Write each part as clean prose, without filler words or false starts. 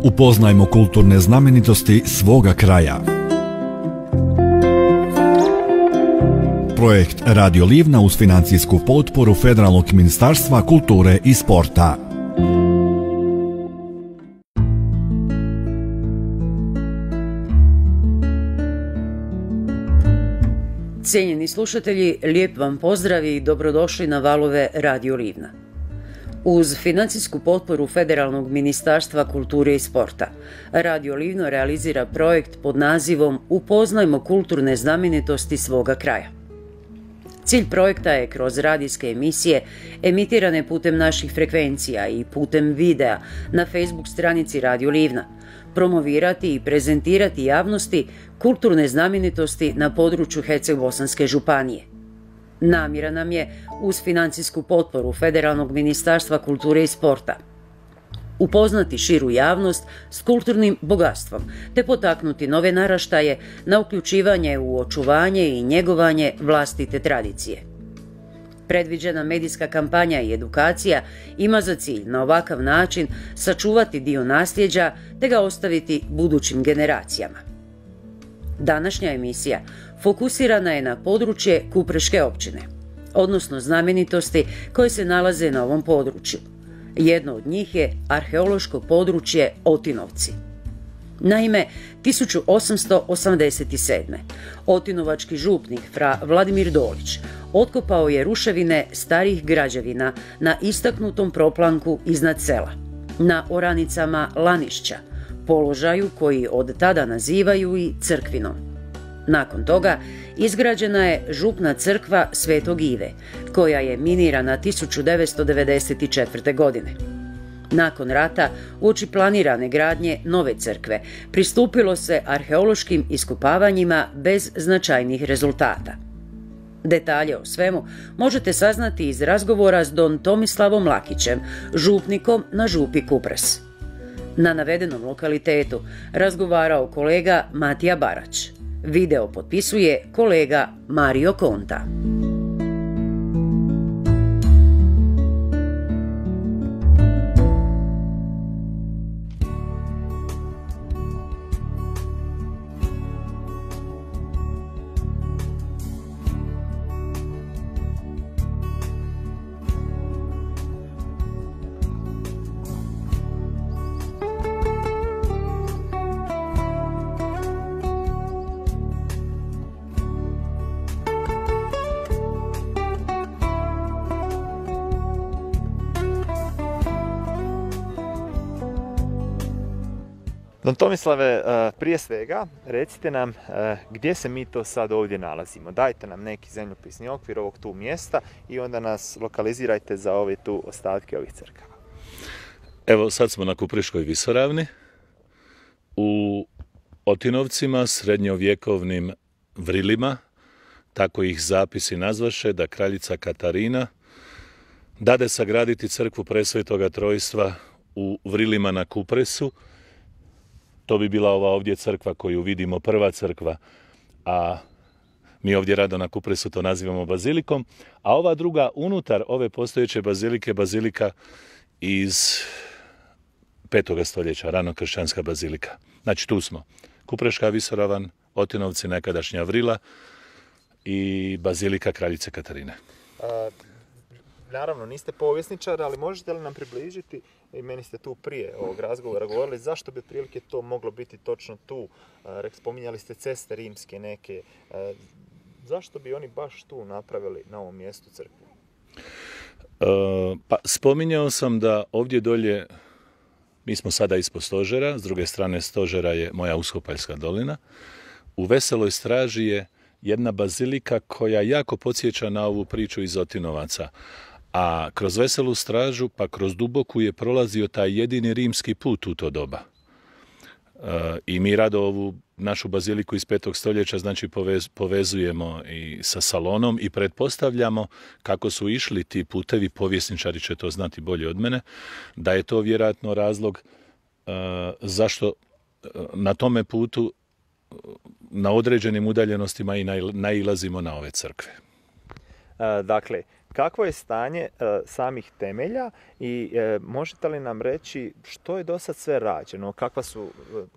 Upoznajmo kulturne znamenitosti svoga kraja. Projekt Radio Livna uz financijsku potporu Federalnog ministarstva kulture i sporta. Cijenjeni slušatelji, lijep vam pozdrav i dobrodošli na valove Radio Livna. Uz financijsku potporu Federalnog ministarstva kulture i sporta, Radio Livno realizira projekt pod nazivom Upoznajmo kulturne znamenitosti svoga kraja. Cilj projekta je kroz radijske emisije emitirane putem naših frekvencija i putem videa na Facebook stranici Radio Livna promovirati i prezentirati javnosti kulturne znamenitosti na području Herceg-Bosanske županije. Namjera nam je, uz financijsku potporu Federalnog ministarstva kulture i sporta, upoznati širu javnost s kulturnim bogatstvom te potaknuti nove naraštaje na uključivanje u očuvanje i njegovanje vlastite tradicije. Predviđena medijska kampanja i edukacija ima za cilj na ovakav način sačuvati dio nasljeđa te ga ostaviti budućim generacijama. Današnja emisija fokusirana je na područje Kupreške općine, odnosno znamenitosti koje se nalaze na ovom području. Jedno od njih je arheološko područje Otinovci. Naime, 1887. otinovački župnik fra Vladimir Dolić otkopao je ruševine starih građevina na istaknutom proplanku iznad sela, na oranicama Lanišća, položaju koji od tada nazivaju i crkvinom. Nakon toga izgrađena je župna crkva Svetog Ive, koja je minirana 1994. godine. Nakon rata, uoči planirane gradnje nove crkve, pristupilo se arheološkim iskopavanjima bez značajnih rezultata. Detalje o svemu možete saznati iz razgovora s don Tomislavom Lakićem, župnikom na župi Kupres. Na navedenom lokalitetu razgovarao kolega Matija Barać. Video potpisuje kolega Mario Konta. Don Tomislave, prije svega recite nam gdje se mi to sad ovdje nalazimo. Dajte nam neki zemljopisni okvir ovog tu mjesta i onda nas lokalizirajte za ove tu ostatke ovih crkava. Evo, sad smo na Kupreškoj visoravni, u Otinovcima, srednjovjekovnim vrilima, tako ih zapisi nazvaše, da kraljica Katarina dade sagraditi crkvu Presvetoga Trojstva u vrilima na Kupresu. To bi bila ova ovdje crkva koju vidimo, prva crkva, a mi ovdje rado na Kupresu to nazivamo bazilikom, a ova druga unutar ove postojeće bazilike, bazilika iz 5. stoljeća, ranokršćanska bazilika. Znači tu smo, Kupreška visoravan, Otinovci, nekadašnja vrila i bazilika kraljice Katarine. Naravno, niste povjesničar, ali možete li nam približiti, i meni ste tu prije ovog razgovora govorili, zašto bi prilike to moglo biti točno tu? Spominjali ste ceste rimske neke. Zašto bi oni baš tu napravili na ovom mjestu crkvu? Pa spominjao sam da ovdje dolje, mi smo sada ispod stožera, s druge strane stožera je moja Uskopaljska dolina. U Veseloj straži je jedna bazilika koja jako podsjeća na ovu priču iz Otinovaca. A kroz Veselu stražu, pa kroz Duboku je prolazio taj jedini rimski put u to doba. I mi rado ovu našu baziliku iz 5. stoljeća znači povezujemo i sa Salonom i pretpostavljamo kako su išli ti putevi, povjesničari će to znati bolje od mene, da je to vjerojatno razlog zašto na tome putu na određenim udaljenostima i nailazimo na ove crkve. Dakle, Kakvo je stanje samih temelja i možete li nam reći što je do sad sve rađeno?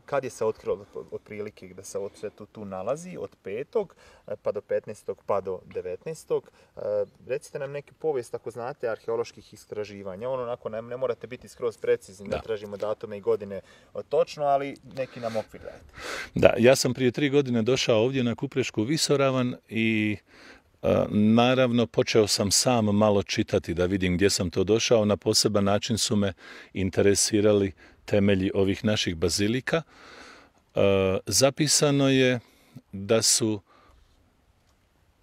Kad je se otkrilo otprilike da se sve tu nalazi od 5. pa do 15. pa do 19. Recite nam neki povijest ako znate arheoloških istraživanja. Onako ne morate biti skroz precizni, ne tražimo datume i godine točno, ali neki nam okvir dajte. Da, ja sam prije 3 godine došao ovdje na Kuprešku visoravan i naravno počeo sam sam malo čitati da vidim gdje sam to došao. Na poseban način su me interesirali temelji ovih naših bazilika. Zapisano je da su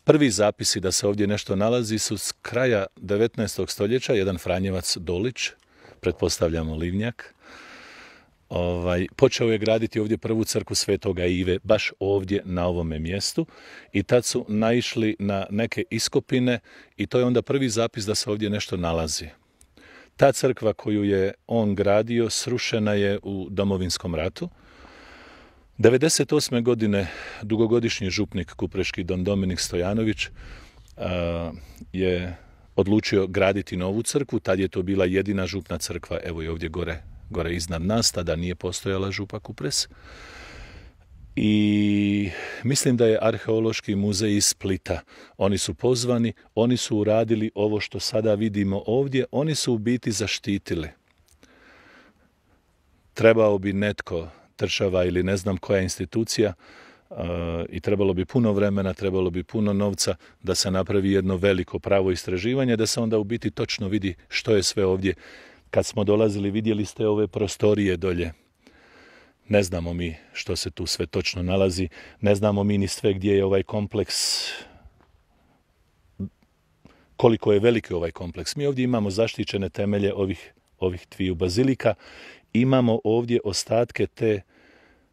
prvi zapisi da se ovdje nešto nalazi su s kraja 19. stoljeća, jedan Franjevac Dolić, pretpostavljamo Livnjak, počeo je graditi ovdje prvu crkvu Svetoga Ive, baš ovdje na ovome mjestu, i tad su naišli na neke iskopine i to je onda prvi zapis da se ovdje nešto nalazi. Ta crkva koju je on gradio srušena je u Domovinskom ratu. 1998. godine dugogodišnji župnik kupreški don Dominik Stojanović je odlučio graditi novu crkvu. Tad je to bila jedina župna crkva, evo i ovdje gore iznad nas, tada nije postojala župa Kupres. I mislim da je Arheološki muzej iz Splita. Oni su pozvani, oni su uradili ovo što sada vidimo ovdje, oni su u biti zaštitili. Trebao bi netko, država ili ne znam koja institucija, i trebalo bi puno vremena, trebalo bi puno novca da se napravi jedno veliko pravo istraživanje, da se onda u biti točno vidi što je sve ovdje. Kad smo dolazili, vidjeli ste ove prostorije dolje. Ne znamo mi što se tu sve točno nalazi, ne znamo mi ni sve gdje je ovaj kompleks, koliko je veliki ovaj kompleks. Mi ovdje imamo zaštićene temelje ovih dviju bazilika, imamo ovdje ostatke te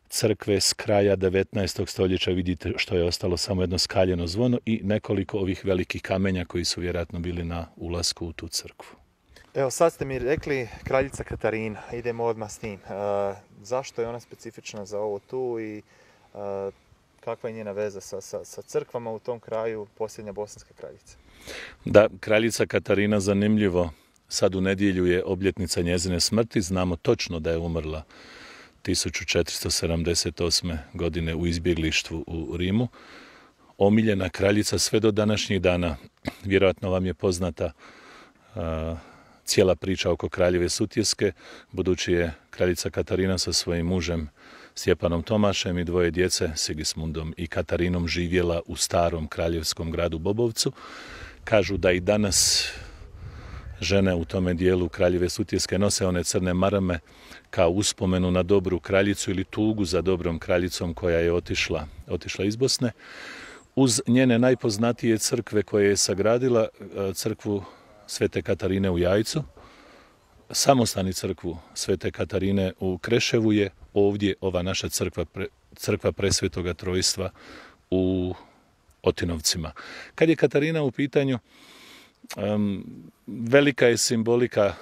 crkve s kraja 19. stoljeća, vidite što je ostalo, samo jedno skaljeno zvono i nekoliko ovih velikih kamenja koji su vjerojatno bili na ulasku u tu crkvu. Evo sad ste mi rekli kraljica Katarina, idemo odmah s tim. Zašto je ona specifična za ovo tu i kakva je njena veza sa crkvama u tom kraju, posljednja bosanska kraljica? Da, kraljica Katarina, zanimljivo, sad u nedjelju je obljetnica njezine smrti, znamo točno da je umrla 1478. godine u izbjeglištvu u Rimu. Omiljena kraljica sve do današnjih dana, vjerojatno vam je poznata cijela priča oko kraljeve Sutjeske, budući je kraljica Katarina sa svojim mužem Stjepanom Tomašem i 2 djece, Sigismundom i Katarinom, živjela u starom kraljevskom gradu Bobovcu. Kažu da i danas žene u tome dijelu kraljeve Sutjeske nose one crne marame kao uspomenu na dobru kraljicu ili tugu za dobrom kraljicom koja je otišla iz Bosne. Uz njene najpoznatije crkve koje je sagradila, crkvu Svete Katarine u Jajcu, samostani crkvu Svete Katarine u Kreševu, je ovdje ova naša crkva Presvetoga Trojstva u Otinovcima. Kad je Katarina u pitanju, velika je simbolika,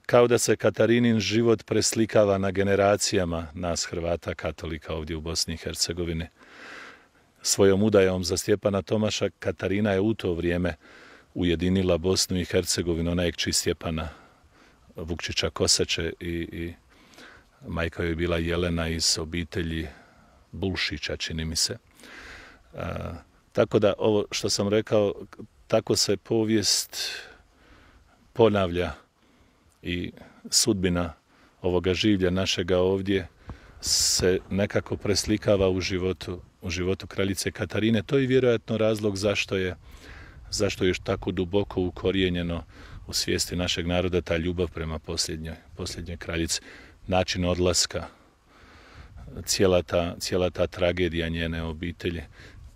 kao da se Katarinin život preslikava na generacijama nas Hrvata katolika ovdje u Bosni i Hercegovini. Svojom udajom za Stjepana Tomaša Katarina je u to vrijeme ujedinila Bosnu i Hercegovinu. Ona je kći Stjepana Vukčića Kosače i majka joj je bila Jelena iz obitelji Bulšića, čini mi se. Tako da ovo što sam rekao, tako se povijest ponavlja i sudbina ovoga življa našega ovdje se nekako preslikava u životu kraljice Katarine. To je vjerojatno razlog zašto je još tako duboko ukorijenjeno u svijesti našeg naroda ta ljubav prema posljednjoj kraljici. Način odlaska, cijela ta tragedija njene obitelji.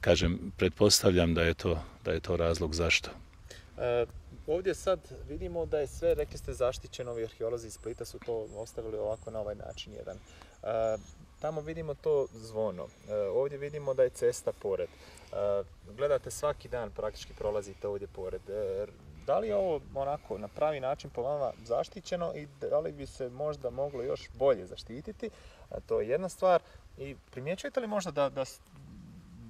Kažem, pretpostavljam da je to razlog zašto. Ovdje sad vidimo da je sve, rekli ste, zaštićeno, ovi arheolozi iz Splita su to ostavili ovako na ovaj način jedan. Tamo vidimo to zvono, ovdje vidimo da je cesta pored. Gledate svaki dan, praktički prolazite ovdje pored. Da li je ovo onako na pravi način po vama zaštićeno i da li bi se možda moglo još bolje zaštititi? To je jedna stvar. I primjećujete li možda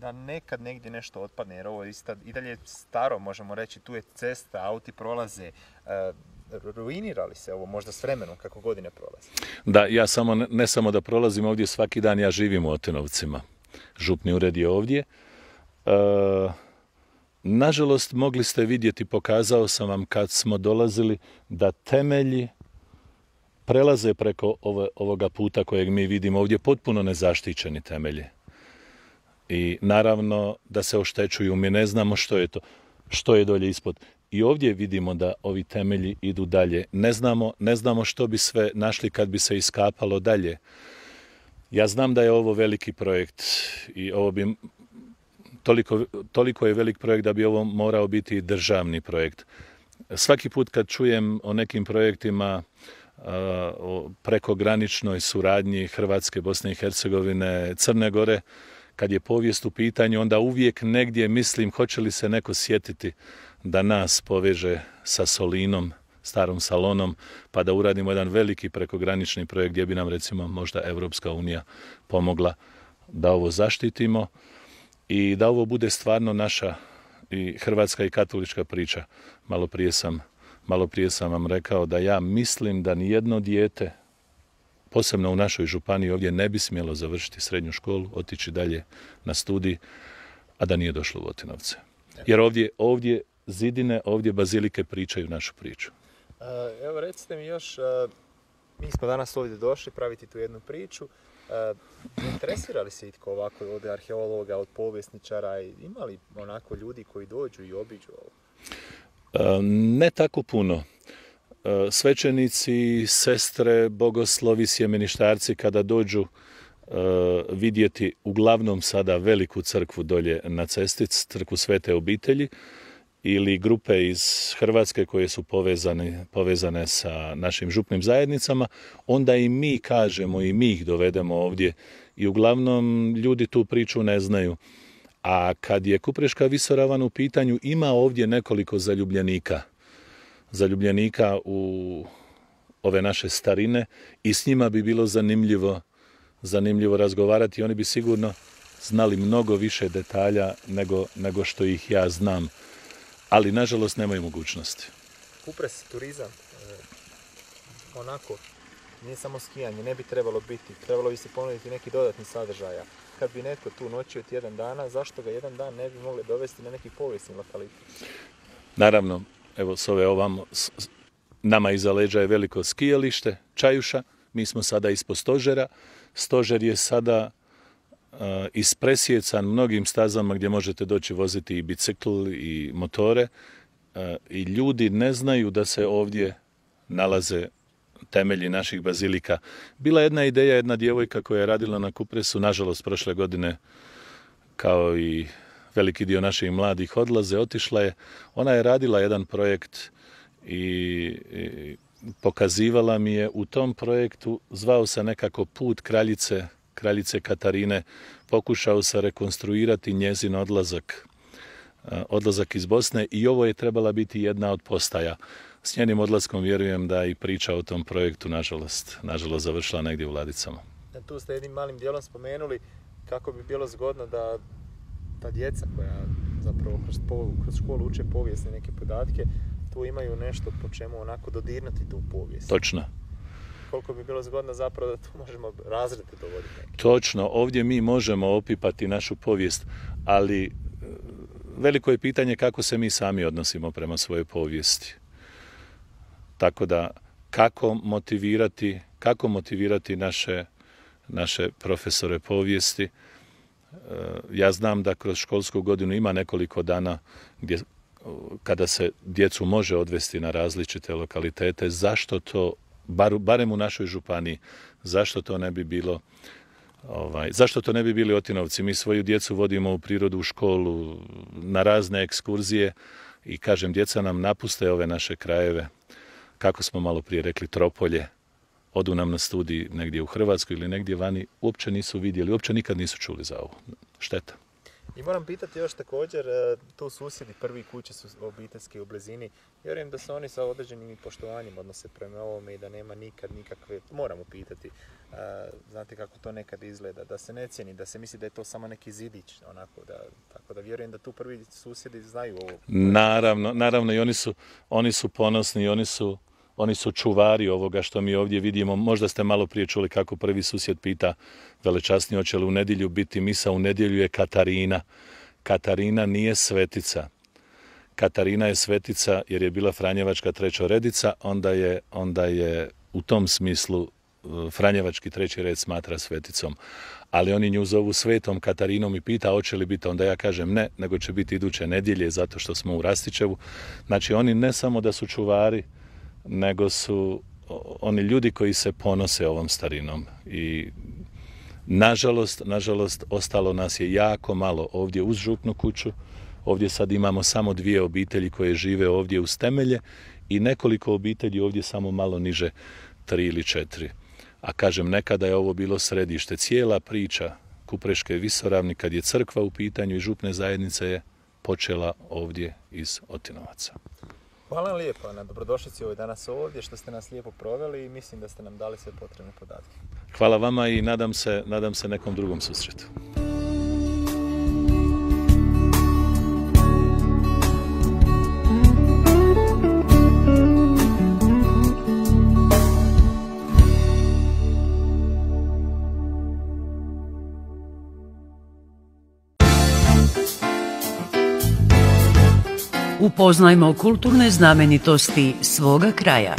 da nekad negdje nešto otpadne, jer ovo i dalje je staro, možemo reći, tu je cesta, auti prolaze, ruinira li se ovo možda s vremenom kako godine prolaze? Da, ja ne samo da prolazim ovdje svaki dan, ja živim u Otinovcima. Župni ured je ovdje. Nažalost, mogli ste vidjeti, pokazao sam vam kad smo dolazili, da temelji prelaze preko ovoga puta kojeg mi vidimo ovdje, potpuno nezaštićeni temelji. I naravno da se oštećuju, mi ne znamo što je dolje ispod. I ovdje vidimo da ovi temelji idu dalje. Ne znamo što bi sve našli kad bi se iskapalo dalje. Ja znam da je ovo veliki projekt i ovo bi toliko je velik projekt da bi ovo morao biti državni projekt. Svaki put kad čujem o nekim projektima o prekograničnoj suradnji Hrvatske, Bosne i Hercegovine, Crne Gore, kad je povijest u pitanju, onda uvijek negdje mislim hoće li se neko sjetiti da nas poveže sa Solinom, starom Salonom, pa da uradimo jedan veliki prekogranični projekt gdje bi nam recimo možda Europska unija pomogla da ovo zaštitimo i da ovo bude stvarno naša i hrvatska i katolička priča. Malo prije sam vam rekao da ja mislim da nijedno dijete, posebno u našoj županiji ovdje, ne bi smjelo završiti srednju školu, otići dalje na studij, a da nije došlo u Otinovce. Jer ovdje zidine, ovdje bazilike pričaju našu priču. Evo recite mi još, mi smo danas ovdje došli praviti tu jednu priču. Interesira li se itko ovako od arheologa, od povjesničara? Ima li onako ljudi koji dođu i obiđu ovo? Ne tako puno. Svećenici, sestre, bogoslovi, sjemeništarci kada dođu vidjeti uglavnom sada veliku crkvu dolje na cesti, crkvu Svete obitelji, ili grupe iz Hrvatske koje su povezane sa našim župnim zajednicama, onda i mi kažemo i mi ih dovedemo ovdje i uglavnom ljudi tu priču ne znaju. A kad je Kupreška visoravan u pitanju, ima ovdje nekoliko zaljubljenika u ove naše starine i s njima bi bilo zanimljivo razgovarati. Oni bi sigurno znali mnogo više detalja nego što ih ja znam. Ali, nažalost, nemaju mogućnosti. Kupres, turizam, onako, nije samo skijanje, ne bi trebalo biti. Trebalo bi se ponuditi neki dodatni sadržaja. Kad bi netko tu noćio tjedan dana, zašto ga jedan dan ne bi mogli dovesti na neki povijesni lokalitet? Naravno, evo s ove ovamo, nama iza leđa je veliko skijalište, Čajuša, mi smo sada ispod Stožera. Stožer je sada ispresjecan mnogim stazama gdje možete doći voziti i bicikl i motore i ljudi ne znaju da se ovdje nalaze temelji naših bazilika. Bila jedna ideja, jedna djevojka koja je radila na Kupresu, nažalost prošle godine, kao i veliki dio naših mladih otišla je. Ona je radila jedan projekt i pokazivala mi je u tom projektu, zvao se nekako Put kraljice Katarine, pokušao se rekonstruirati njezin odlazak iz Bosne i ovo je trebala biti jedna od postaja. S njenim odlaskom vjerujem da i priča o tom projektu, nažalost završila negdje u ladicama. Tu ste jednim malim dijelom spomenuli kako bi bilo zgodno da ta djeca koja zapravo kroz školu uče povijesne neke podatke, tu imaju nešto po čemu onako dodirnuti tu povijest. Točno. Koliko bi bilo zgodno zapravo da tu možemo razrede dovoditi neke. Točno, ovdje mi možemo opipati našu povijest, ali veliko je pitanje kako se mi sami odnosimo prema svojoj povijesti. Tako da, kako motivirati naše profesore povijesti. Ja znam da kroz školsku godinu ima nekoliko dana kada se djecu može odvesti na različite lokalitete. Zašto to, barem u našoj županiji, zašto to ne bi bili Otinovci? Mi svoju djecu vodimo u prirodu, u školu, na razne ekskurzije i kažem, djeca nam napuste ove naše krajeve. Kako smo malo prije rekli, Tropolje, odu nam na studij negdje u Hrvatskoj ili negdje vani, uopće nisu vidjeli, uopće nikad nisu čuli za ovo. Šteta. I moram pitati još također, tu susjedi, prvi kuće su obiteljski u blizini. Vjerujem da se oni sa određenim poštovanjem odnose prema ovome i da nema nikad nikakve, moramo pitati, znate kako to nekad izgleda, da se ne cijeni, da se misli da je to samo neki zidić, onako tako da vjerujem da tu prvi susjedi znaju ovo. Naravno i oni su ponosni, oni su čuvari ovoga što mi ovdje vidimo. Možda ste malo prije čuli kako prvi susjed pita velečasni hoće li u nedjelju biti misa. U nedjelju je Katarina. Katarina nije svetica. Katarina je svetica jer je bila franjevačka trećoredica, onda je u tom smislu franjevački treći red smatra sveticom. Ali oni nju zovu Svetom Katarinom i pita hoće li biti, onda ja kažem ne, nego će biti iduće nedjelje zato što smo u Rastićevu. Znači oni ne samo da su čuvari, nego su oni ljudi koji se ponose ovom starinom. I nažalost, ostalo nas je jako malo ovdje uz župnu kuću. Ovdje sad imamo samo 2 obitelji koje žive ovdje uz temelje i nekoliko obitelji ovdje samo malo niže, 3 ili 4. A kažem, nekada je ovo bilo središte. Cijela priča Kupreške visoravni, kad je crkva u pitanju i župne zajednice, je počela ovdje iz Otinovaca. Hvala vam lijepo na dobrodošlici danas ovdje, što ste nas lijepo proveli i mislim da ste nam dali sve potrebne podatke. Hvala vama i nadam se nekom drugom susretu. Upoznajmo kulturne znamenitosti svoga kraja.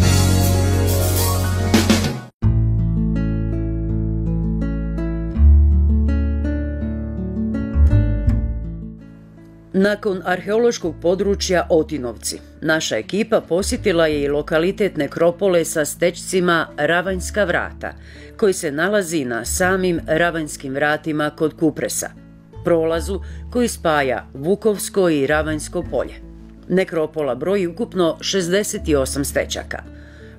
Nakon arheološkog područja Otinovci, naša ekipa posjetila je i lokalitet nekropole sa stečcima Ravanjska vrata, koji se nalazi na samim Ravanjskim vratima kod Kupresa, prolazu koji spaja Vukovsko i Ravanjsko polje. Nekropola broji ukupno 68 stečaka.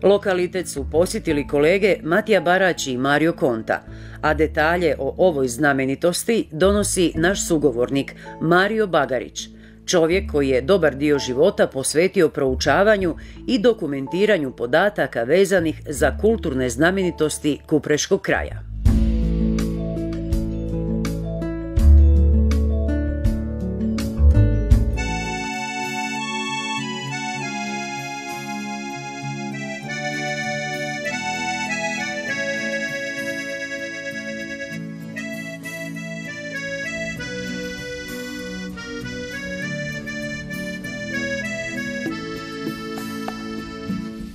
Lokalitet su posjetili kolege Matija Barać i Mario Konta, a detalje o ovoj znamenitosti donosi naš sugovornik Mario Bagarić, čovjek koji je dobar dio života posvetio proučavanju i dokumentiranju podataka vezanih za kulturne znamenitosti Kupreškog kraja.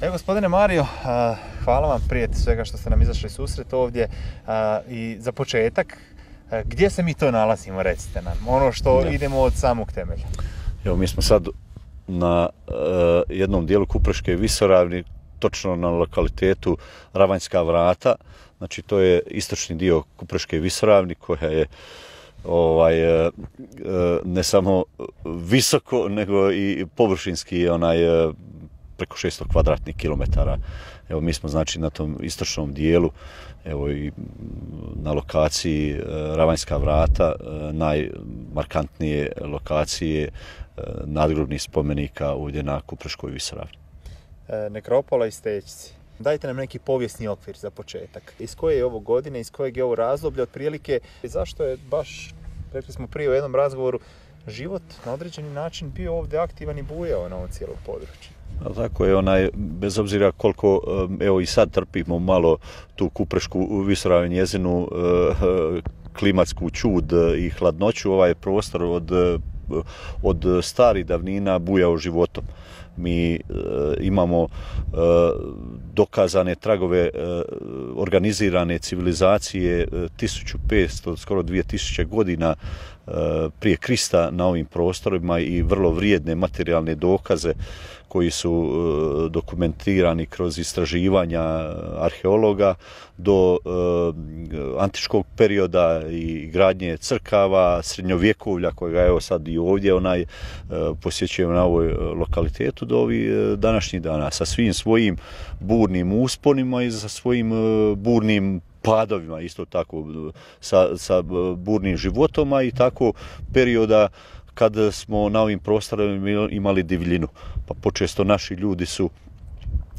Evo, gospodine Mario, hvala vam prije svega što ste nam izašli susret ovdje i za početak, gdje se mi to nalazimo, recite nam, ono što idemo od samog temelja. Evo, mi smo sad na jednom dijelu Kupreške visoravni, točno na lokalitetu Ravanjska vrata, znači to je istočni dio Kupreške visoravni koja je ne samo visoko, nego i površinski preko 600 kvadratnih kilometara. Evo, mi smo znači na tom istočnom dijelu, evo i na lokaciji Ravanjska vrata, najmarkantnije lokacije nadgrobnih spomenika ovdje na Kupreškoj visoravni. Nekropola i stečci. Dajte nam neki povijesni okvir za početak. Iz koje je ovo godine, iz kojeg je ovo razdoblje otprilike, zašto je baš, rekli smo prije u jednom razgovoru, život na određeni način bio ovdje aktivan i bujao na ovom cijelom području? Tako je, bez obzira koliko, evo i sad trpimo malo tu Kuprešku visoravni, njezinu klimatsku čud i hladnoću, ovaj prostor od starih davnina bujao životom. Mi imamo dokazane tragove organizirane civilizacije 1500, skoro 2000 godina prije Krista na ovim prostorima i vrlo vrijedne materijalne dokaze koji su dokumentirani kroz istraživanja arheologa do antičkog perioda i gradnje crkava, srednjovjekovlja kojega evo sad i ovdje posjećujemo na ovoj lokalitetu do ovih današnjih dana sa svim svojim burnim usponima i sa svojim burnim padovima, isto tako sa burnim životom, i tako perioda kad smo na ovim prostorima imali divljinu. Pa počesto naši ljudi su,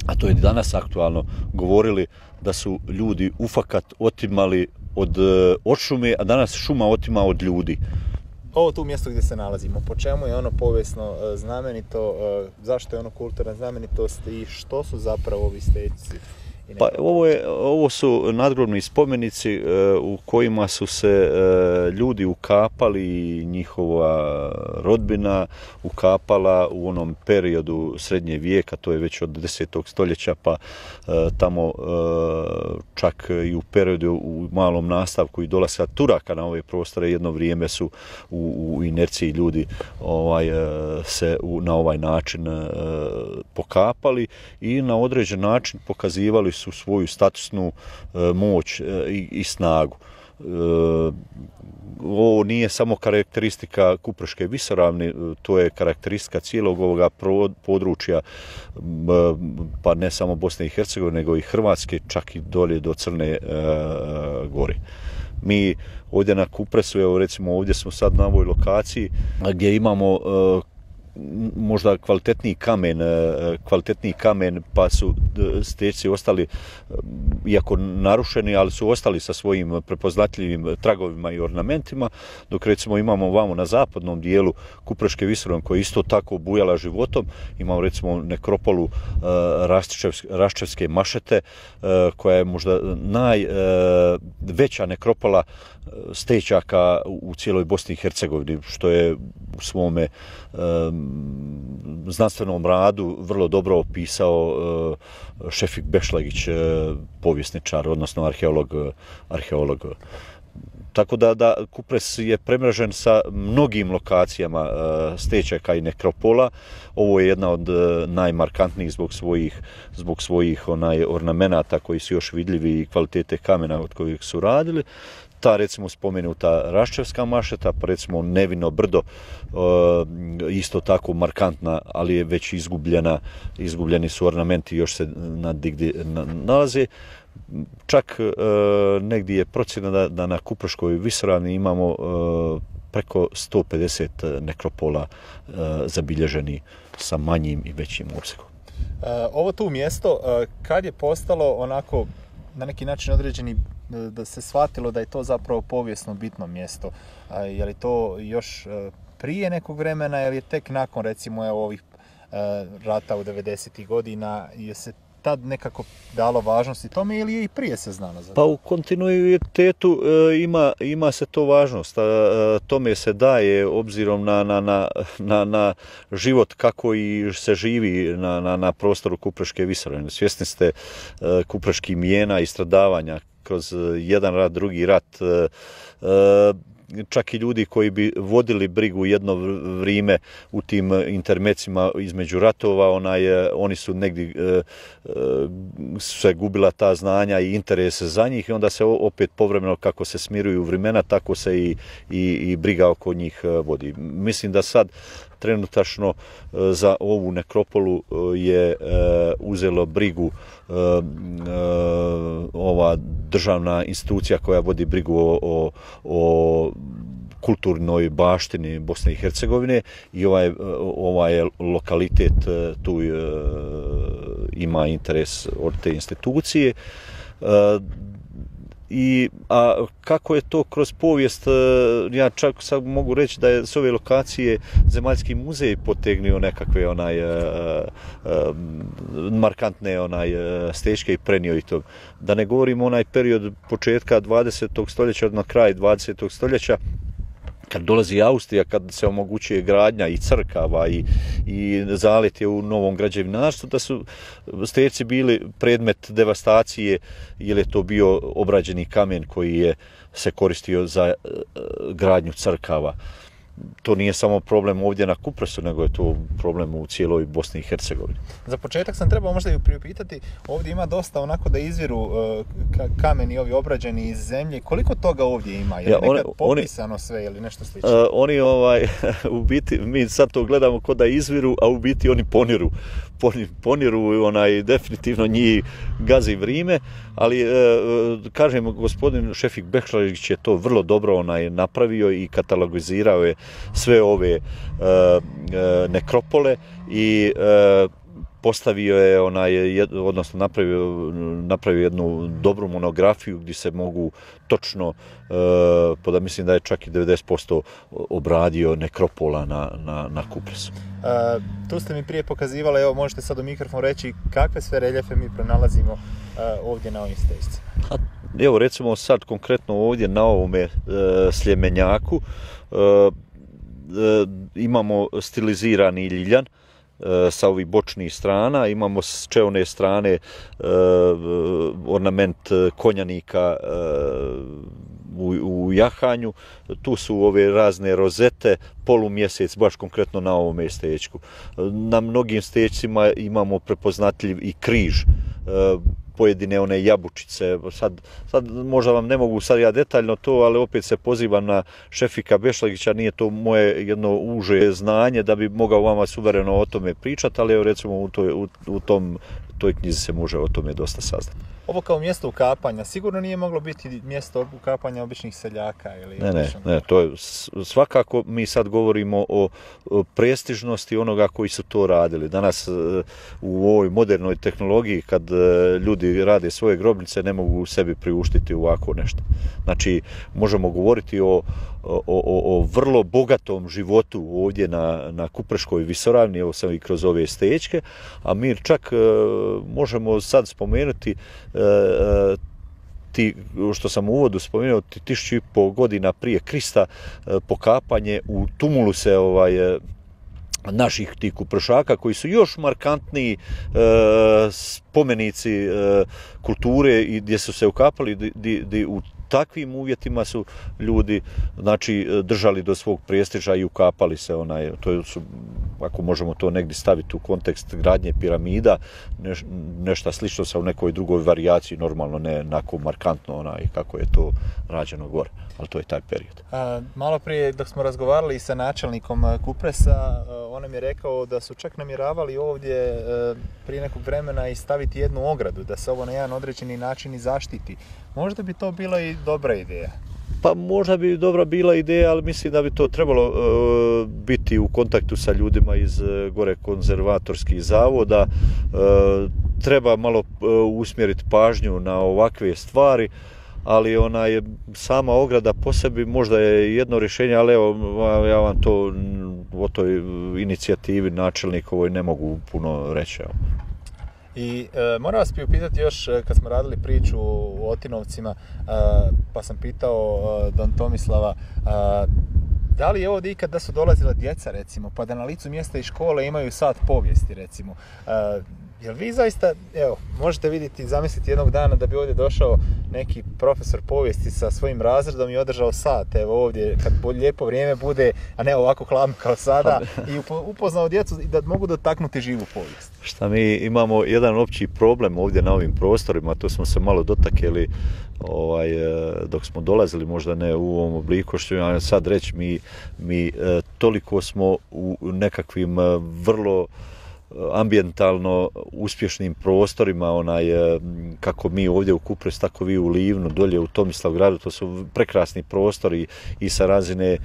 a to je danas aktualno, govorili da su ljudi ufakat otimali od šume, a danas šuma otima od ljudi. Ovo tu mjesto gdje se nalazimo, po čemu je ono povijesno znamenito, zašto je ono kulturna znamenitost i što su zapravo ovi stećci? Pa ovo su nadgrobni spomenici u kojima su se ljudi ukapali, njihova rodbina ukapala u onom periodu srednje vijeka, to je već od 10. stoljeća, pa tamo čak i u periodu u malom nastavku i dolaska Turaka na ove prostore, jedno vrijeme su u inerciji ljudi se na ovaj način pokapali i na određen način pokazivali su svoju statusnu moć i snagu. Ovo nije samo karakteristika Kupreške visoravni, to je karakteristika cijelog ovoga područja, pa ne samo Bosne i Hercegovine, nego i Hrvatske, čak i dolje do Crne Gore. Mi ovdje na Kupresu, evo recimo ovdje smo sad na ovoj lokaciji gdje imamo možda kvalitetniji kamen, pa su stećci ostali, iako narušeni, ali su ostali sa svojim prepoznatljivim tragovima i ornamentima, dok recimo imamo vamo na zapadnom dijelu Kupreške visoravne, koja je isto tako bujala životom. Imamo recimo nekropolu Raščevske mašete, koja je možda najveća nekropola stećaka u cijeloj Bosni i Hercegovini, što je u svome znanstvenom radu vrlo dobro opisao Šefik Bešlagić, povjesničar, odnosno arheolog. Tako da Kupres je premrežen sa mnogim lokacijama stećaka i nekropola. Ovo je jedna od najmarkantnijih zbog svojih ornamenata koji su još vidljivi i kvalitete kamena od kojih su radili. Ta recimo spomenuta Raščevska mašeta, pa recimo Nevino brdo, isto tako markantna, ali je već izgubljeni su ornamenti, još se nadigdje nalaze. Čak negdje je procjena da na Kupreškoj visoravni imamo preko 150 nekropola zabilježeni sa manjim i većim opsegom. Ovo tu mjesto, kad je postalo onako na neki način određeni, da se shvatilo da je to zapravo povijesno bitno mjesto? Je li to još prije nekog vremena ili je tek nakon recimo ovih rata u 90. godina, je se tad nekako dalo važnosti tome ili je i prije se znalo? Pa u kontinuitetu ima se to važnost. Tome se daje obzirom na život kako i se živi na prostoru Kupreške visoravne. Svjesni ste kupreških mijena i stradavanja kroz jedan rat, drugi rat. Čak i ljudi koji bi vodili brigu jedno vrijeme u tim intermecima između ratova, oni su negdje se gubila ta znanja i interese za njih i onda se opet povremeno kako se smiruju vremena, tako se i briga oko njih vodi. Mislim da sad trenutačno za ovu nekropolu je uzelo brigu ova državna institucija koja vodi brigu o kulturnoj baštini Bosne i Hercegovine i ovaj lokalitet tu ima interes od te institucije. A kako je to kroz povijest, ja čak sad mogu reći da je s ove lokacije Zemaljski muzej potegnio nekakve markantne stećke i prenio i to. Da ne govorimo onaj period početka 20. stoljeća, na kraj 20. stoljeća, kad dolazi Austrija, kad se omogućuje gradnja i crkava i zaletje u novom građevinarstvu, da su stećci bili predmet devastacije, jer je to bio obrađeni kamen koji je se koristio za gradnju crkava. to nije samo problem ovdje na Kupresu, nego je to problem u cijeloj Bosni i Hercegovini. Za početak sam trebao možda i priupitati, ovdje ima dosta onako da izviru kameni ovi obrađeni iz zemlje. Koliko toga ovdje ima? Je li nekad popisano sve ili nešto slično? Oni u biti, mi sad to gledamo kao da izviru, a u biti oni poniru, definitivno njih gazi vrime, ali kažem, gospodin Šefik Bekšalić je to vrlo dobro napravio i katalogizirao je sve ove nekropole i postavio je odnosno napravio jednu dobru monografiju gdje se mogu točno, da mislim da je čak i 90% obradio nekropola na Kupresu. Tu ste mi prije pokazivali, evo možete sad u mikrofon reći kakve sve reljefe mi pronalazimo ovdje na ovim stežicama. Evo recimo sad konkretno ovdje na ovome Sljemenjaku imamo stilizirani ljiljan sa ovih bočnih strana, imamo s čeone strane ornament konjanika u jahanju, tu su ove razne rozete, polumjesec, baš konkretno na ovome stečku. Na mnogim stečcima imamo prepoznatljiv i križ, pojedine one jabučice, sad možda vam ne mogu sad ja detaljno to, ali opet se pozivam na Šefika Bešlagića, nije to moje jedno uže znanje da bi mogao vama suvereno o tome pričati, ali evo recimo u toj knjizi se može o tome dosta saznati. Ovo kao mjesto ukapanja sigurno nije moglo biti mjesto ukapanja običnih seljaka ili... Ne, to je svakako, mi sad govorimo o prestižnosti onoga koji su to radili. Danas u ovoj modernoj tehnologiji kad ljudi rade svoje grobnice ne mogu sebi priuštiti ovako nešto. Znači možemo govoriti o vrlo bogatom životu ovdje na Kupreškoj visoravni, evo sam i kroz ove stečke, a mi čak možemo sad spomenuti što sam u uvodu spomenuo, 1500 godina prije Krista pokapanje u tumuluse naših tih kuprešaka koji su još markantniji spomenici kulture i gdje su se ukapali, gdje u takvim uvjetima su ljudi držali do svog prestiža i ukapali se. To su, ako možemo to negdje staviti u kontekst gradnje piramida, nešto slično sa u nekoj drugoj varijaciji, normalno ne onako markantno kako je to rađeno gore, ali to je taj period. Malo prije dok smo razgovarali sa načelnikom Kupresa, on nam je rekao da su čak namjeravali ovdje prije nekog vremena i staviti jednu ogradu, da se ovo na jedan određeni način i zaštiti. Možda bi to bila i dobra ideja. Pa možda bi dobra bila ideja, ali mislim da bi to trebalo biti u kontaktu sa ljudima iz gore konzervatorskih zavoda. Treba malo usmjeriti pažnju na ovakve stvari, ali sama ograda po sebi možda je jedno rješenje, ali evo ja vam to o toj inicijativi načelnikovoj ne mogu puno reći. I moram vas priupitati još, kad smo radili priču o Otinovcima, pa sam pitao Don Tomislava, da li je ovdje ikad da su dolazila djeca, recimo, pa da na licu mjesta i škole imaju sat povijesti, recimo. Jel vi zaista, evo, možete vidjeti, zamisliti jednog dana da bi ovdje došao neki profesor povijesti sa svojim razredom i održao sat, evo ovdje, kad lijepo vrijeme bude, a ne ovako hladno kao sada, i upoznao djecu da mogu dotaknuti živu povijest. Šta mi imamo jedan opći problem ovdje na ovim prostorima, to smo se malo dotakli dok smo dolazili, možda ne u ovom obliku što ću sad reći, mi toliko smo u nekakvim vrlo ambijentalno uspješnim prostorima, kako mi ovdje u Kupresu, tako vi u Livnu, dolje u Tomislavgradu, to su prekrasni prostori i sa razine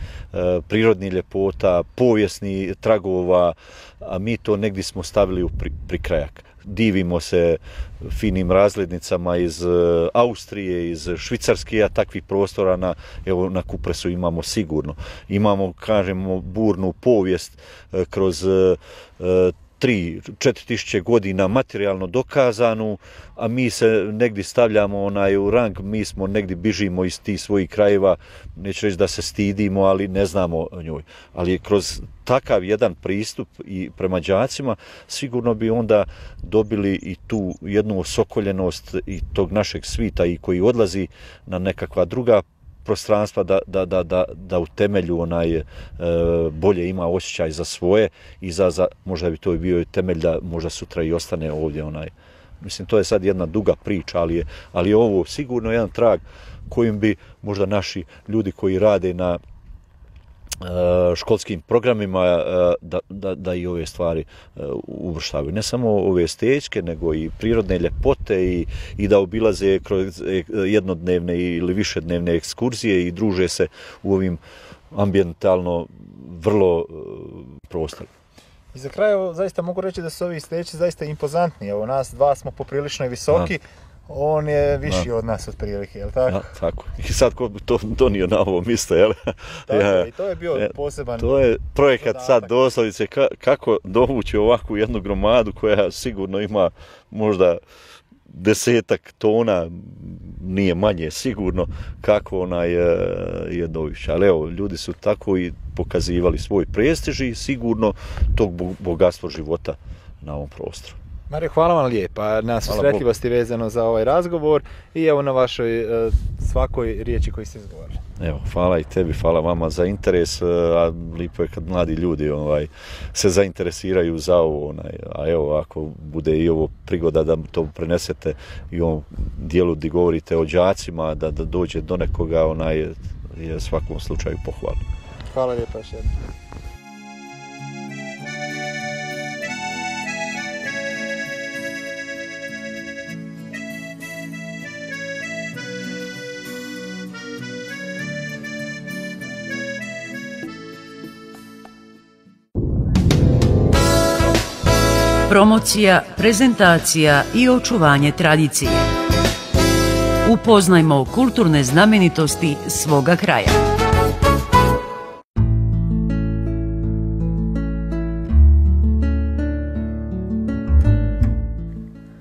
prirodnih ljepota, povijesnih tragova, a mi to negdje smo stavili u prikrajak. Divimo se finim razglednicama iz Austrije, iz Švicarske, a takvih prostora na Kupresu imamo sigurno. Imamo, kažemo, burnu povijest kroz 3-4 tisuće godina materijalno dokazanu, a mi se negdje stavljamo u rang, mi smo negdje bižimo iz tih svojih krajeva, neću reći da se stidimo, ali ne znamo o njoj. Ali kroz takav jedan pristup i prema đacima sigurno bi onda dobili i tu jednu osokoljenost i tog našeg svita i koji odlazi na nekakva druga prostranstva da u temelju bolje ima osjećaj za svoje i možda bi to bio temelj da možda sutra i ostane ovdje Mislim, to je sad jedna duga priča, ali je ovo sigurno jedan trag kojim bi možda naši ljudi koji rade na školskim programima da i ove stvari uvrštavaju. Ne samo ove estetičke, nego i prirodne ljepote i da obilaze kroz jednodnevne ili višednevne ekskurzije i druže se u ovim ambijentalno vrlo prostorima. I za kraj zaista mogu reći da su ovi steći zaista impozantni. Evo, nas dva smo poprilično visoki, on je viši od nas otprilike, jel tako? Ja, tako. I sad ko bi to donio na ovo mjesto, jel? Tako, i to je bio poseban... To je projekat sad doslovnice kako dovući ovakvu jednu gromadu koja sigurno ima možda 10 tona, nije manje sigurno, kako je dovića. Ali evo, ljudi su tako i pokazivali svoj prestiž i sigurno tog bogatstva života na ovom prostoru. Mario, hvala vam lijepa na susretljivosti vezano za ovaj razgovor i evo na vašoj svakoj riječi koju ste izgovorili. Evo, hvala i tebi, hvala vama za interes, a lijepo je kad mladi ljudi se zainteresiraju za ovo, a evo, ako bude i ovo prigoda da to prenesete i u ovom dijelu gdje govorite o đacima, da dođe do nekoga, je u svakom slučaju pohvalno. Hvala lijepa još jednom. Promocija, prezentacija i očuvanje tradicije. Upoznajmo kulturne znamenitosti svoga kraja.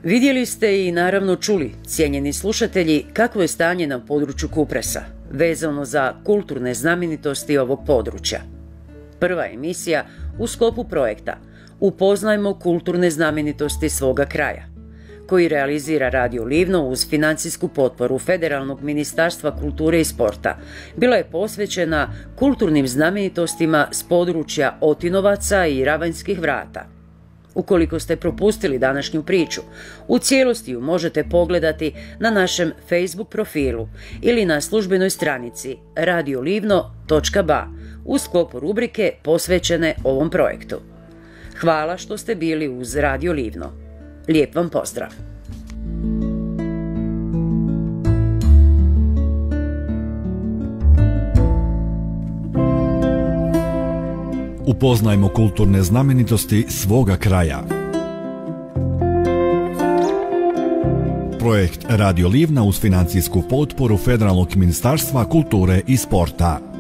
Vidjeli ste i naravno čuli, cijenjeni slušatelji, kakvo je stanje na području Kupresa, vezano za kulturne znamenitosti ovog područja. Prva emisija u sklopu projekta Upoznajmo kulturne znamenitosti svoga kraja, koji realizira Radio Livno uz financijsku potporu Federalnog ministarstva kulture i sporta, bila je posvećena kulturnim znamenitostima s područja Otinovaca i Ravanjskih vrata. Ukoliko ste propustili današnju priču, u cijelosti ju možete pogledati na našem Facebook profilu ili na službenoj stranici radiolivno.ba u sklopu rubrike posvećene ovom projektu. Hvala što ste bili uz Radio Livno. Lijep vam pozdrav! Upoznajmo kulturne znamenitosti svoga kraja. Projekt Radio Livna uz financijsku potporu Federalnog ministarstva kulture i sporta.